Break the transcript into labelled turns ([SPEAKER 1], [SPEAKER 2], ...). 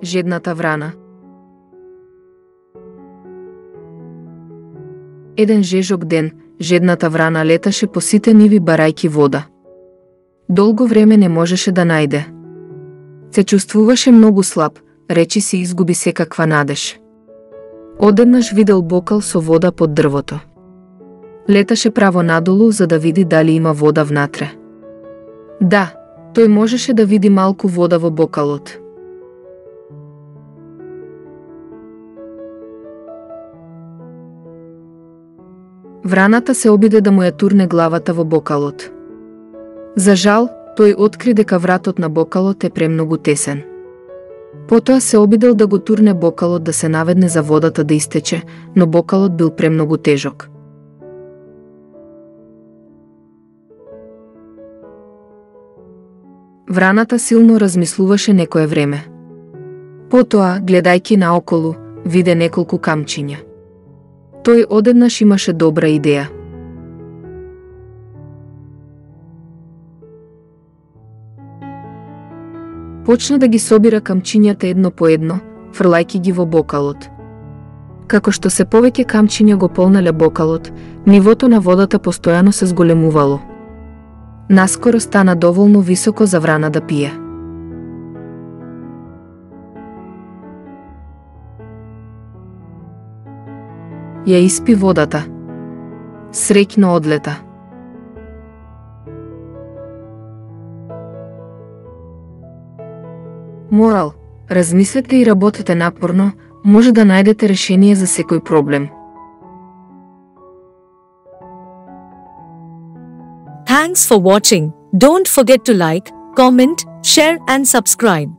[SPEAKER 1] Жедната врана. Еден жежок ден, жедната врана леташе по сите ниви барајки вода. Долго време не можеше да најде. Се чувствуваше многу слаб, речи си изгуби секаква надеж. Одеднаш видел бокал со вода под дрвото. Леташе право надолу за да види дали има вода внатре. Да, тој можеше да види малку вода во бокалот. Враната се обиде да му ја турне главата во бокалот. За жал, тој откри дека вратот на бокалот е премногу тесен. Потоа се обидел да го турне бокалот да се наведне за водата да истече, но бокалот бил премногу тежок. Враната силно размислуваше некое време. Потоа, гледајќи наоколу, виде неколку камчиња. Тој одеднаш имаше добра идеја. Почна да ги собира камчињата едно по едно, фрлајќи ги во бокалот. Како што се повеќе камчиња го полнале бокалот, нивото на водата постојано се зголемувало. Наскоро стана доволно високо за врана да пие. Ја испи водата. Среќно одлета. Морал, размислете и работете напорно, може да најдете решение за секој проблем.
[SPEAKER 2] Thanks for watching. Don't forget to like, comment, share and subscribe.